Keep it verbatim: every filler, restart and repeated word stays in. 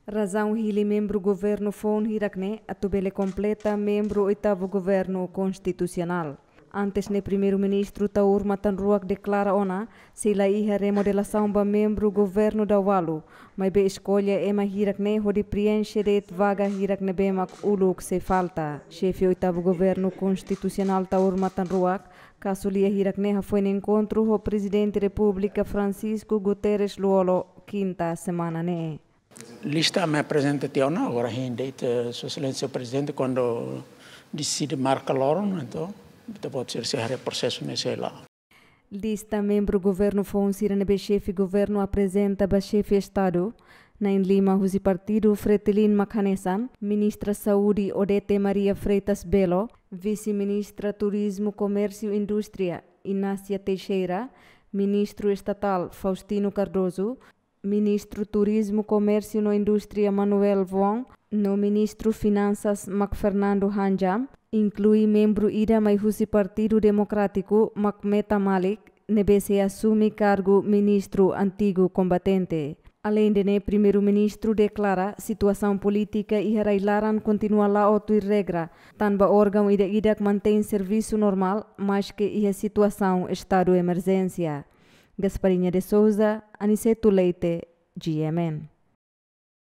Razaun hili membru governu foun hirak ne'e atu bele kompleta membru oitavu governu konstitusionál. Antes ne'e Primeiru-Ministru Taur Matan Ruak deklara ona sei la iha remodelasaun ba membru governu daualu, maibé eskolla ema hirak ne'e hodi prienxe de'it vaga hirak ne'ebé mak uluk sei falta. Xefe oitavu governu konstitusionál Taur Matan Ruak, kasu lia hirak ne'e hafoin enkontru ho Prezidente Repúblika Francisco Guterres Lú-Olo, kinta semana ne'e. Lista ami aprezenta tiha ona, agora hein de'it, eh, Sua Exelénsia Prezidente, kuandu deside marka loron, entaun, ita-boot sira sei haree prosesu ne'e sei la. Lista membru governu foun sira ne'ebé xefe governu aprezenta ba xefe Estadu, na'in lima husi partidu Fretilin mak hanesan: Ministra Saúde Odete Maria Freitas Belo, Vise-Ministra Turizmu, Komérsiu, Indústria Inácia Teixeira, Ministru Estatál Faustino Cardoso, Ministru Turizmu, Komérsiu no Indústria Manuel Wong, no Ministru Finansas mak Fernando Hanjam, inklui membru ida mai husi Partidu Demokrátiku mak Meta Malik, ne'ebé sei asume kargu ministru antigu kombatente. Aleinde ne'e, Primeiru-Ministru deklara situasaun polítika iha rai-laran kontinua la'o tuir regra, tanba órgaun ida-idak mantein servisu normál, maske iha situasaun estadu emerjénsia. Gasparinha de Souza, Aniceto Leite, G M N.